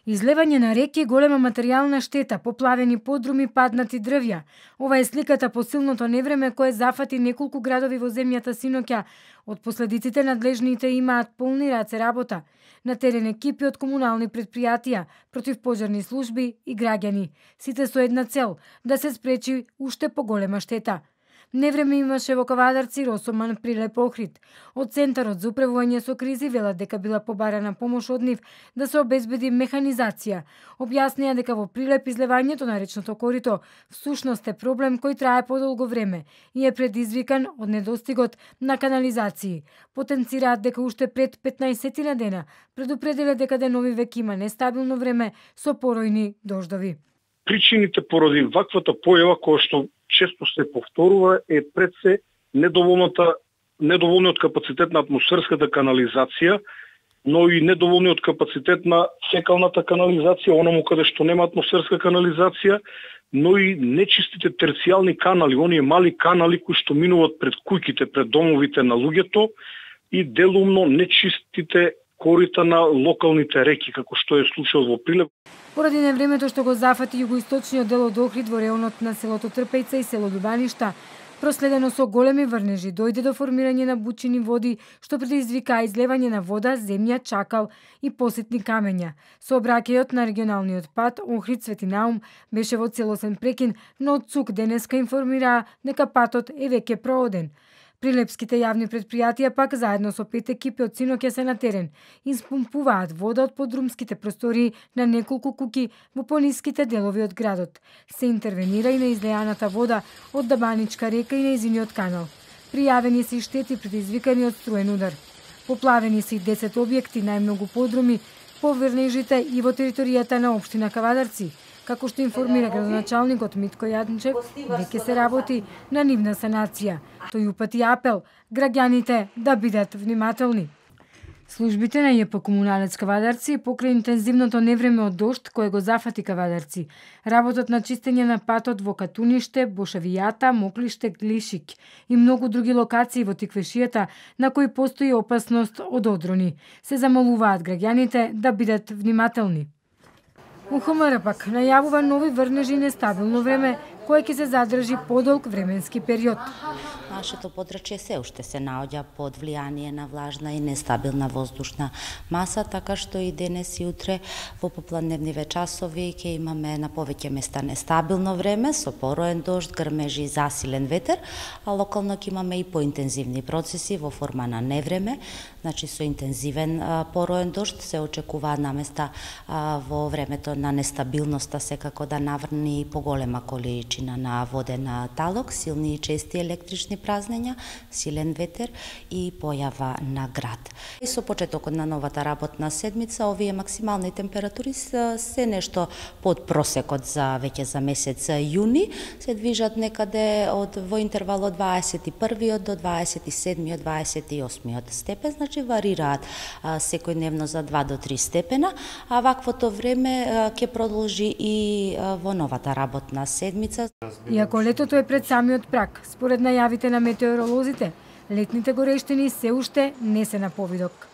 Излевање на реки, голема материјална штета, поплавени подруми, паднати дрвја. Ова е сликата по силното невреме кое зафати неколку градови во земјата синоќа. Од последиците надлежните имаат полни раце работа. На терен екипи од комунални предпријатија, противпожарни служби и граѓани. Сите со една цел – да се спречи уште поголема штета. Невреме имаше во Кавадарци, Росоман, Прилеп, Охрид. Од Центарот за управување со кризи велат дека била побарана помош од нив да се обезбеди механизација. Објаснија дека во Прилеп излевањето на речното корито всушност е проблем кој трае подолго време и е предизвикан од недостигот на канализации. Потенцираат дека уште пред 15 дена предупредиле дека денови веќе има нестабилно време со поројни дождови. Причините поради ваквата појава која што често се повторува е пред се недоволниот капацитет на атмосферската канализација, но и недоволниот капацитет на фекалната канализација, оному каде што нема атмосферска канализација, но и нечистите терцијални канали, оние мали канали кои што минуваат пред куќите, пред домовите на луѓето и делумно нечистите корита на локалните реки, како што е случајот во Прилеп. Поради невремето што го зафати југоисточниот дел од Охрид во реонот на селото Трпејца и село Љубаништа, проследено со големи врнежи, дојде до формирање на бучини води, што предизвика излевање на вода, земја, чакал и посетни камења. Сообраќајот на регионалниот пат Охрид Свети Наум беше во целосен прекин, но од ЦУК денеска информираа дека патот е веќе прооден. Прилепските јавни предпријатија пак заедно со 5 екипи од синоќа се на терен. Испумпуваат вода од подрумските простории на неколку куќи во пониските делови од градот. Се интервенира и на излеаната вода од Дабаничка река и нејзиниот канал. Пријавени се и штети предизвикани од струен удар. Поплавени се и 10 објекти, најмногу подруми, по врнежите и во територијата на општина Кавадарци. Како што информира градоначалникот Митко Јанчев, веќе се работи на нивна санација. Тој упати апел граѓаните да бидат внимателни. Службите на ЈП Комуналец Кавадарци покрај интензивното невреме од дожд кое го зафати Кавадарци, работат на чистење на патот во Катуниште, Бошавијата, Моклиште, Глишик и многу други локации во Тиквешијата на кои постои опасност од одрони. Се замолуваат граѓаните да бидат внимателни. УХМР пак најавува нови врнежи и нестабилно време, кое ќе се задржи подолг временски период. Нашето подрачје се уште се наоѓа под влијание на влажна и нестабилна воздушна маса, така што и денес и утре во попладневниве часови ќе имаме на повеќе места нестабилно време со пороен дожд, грмежи и засилен ветер, а локално ќе имаме и поинтензивни процеси во форма на невреме, значи со интензивен пороен дожд се очекува наместа во времето на нестабилноста секако да наврни и поголема количина на воден талок, силни и чести електрични празнења, силен ветер и појава на град. И со почетокот на новата работна седмица, овие максимални температури се нешто под просекот за месец јуни, се движат некаде во интервал од 21 до 27 28 степен, значи варираат секојдневно за 2 до 3 степена, а ваквото време ќе продолжи и во новата работна седмица. Иако летото е пред самиот праг, според најавите на метеоролозите, летните горештини се уште не се на повидок.